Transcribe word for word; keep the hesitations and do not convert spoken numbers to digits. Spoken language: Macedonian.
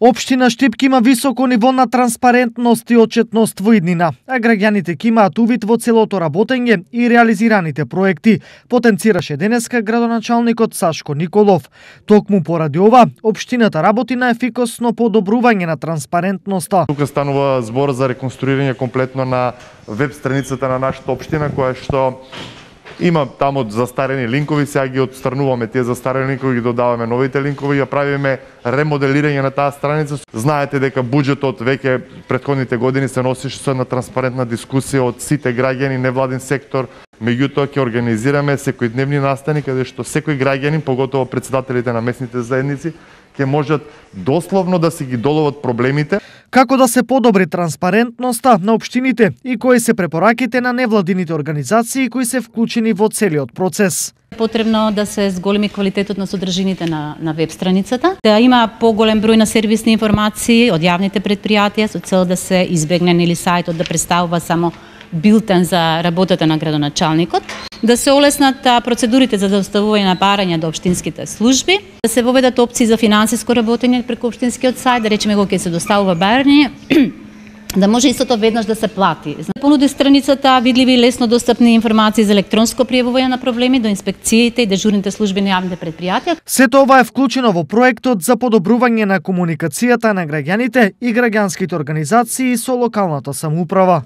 Општина Штипки има високо ниво на транспарентност и отчетност во иднина, а граѓаните ќе имаат увид во целото работење и реализираните проекти, потенцираше денеска градоначалникот Сашко Николов. Токму поради ова, општината работи на ефикасно подобрување на транспарентноста. Тука станува збор за реконструирање комплетно на веб страницата на нашата општина, која што има таму застарени линкови, сега ги отстрануваме тие застарени линкови, ги додаваме новите линкови, ја правиме ремоделирање на таа страница. Знаете дека буџетот веќе претходните години се носеше со една транспарентна дискусија од сите граѓани, невладин сектор. Меѓутоа ќе организираме секојдневни настани каде што секој граѓанин, поготово претседателите на месните заедници, ќе можат дословно да си ги доловат проблемите. Како да се подобри транспарентноста на општините и кои се препораките на невладините организации кои се вклучени во целиот процес. Потребно да се зголеми квалитетот на содржините на, на веб страницата, да има поголем број на сервисни информации од јавните предпријатија со цел да се избегне нели сајтот да представува само билтен за работата на градоначалникот, да се олеснат процедурите за доставување на барања до општинските служби, да се воведат опции за финансиско работење преку општинскиот сајт, да речеме кога ќе се доставува барање, да може истото веднаш да се плати. Понуди страницата видливи и лесно достапни информации за електронско пријавување на проблеми до инспекциите и дежурните служби на јавните предпријатија. Сето ова е вклучено во проектот за подобрување на комуникацијата на граѓаните и граѓанските организации со локалната самоуправа.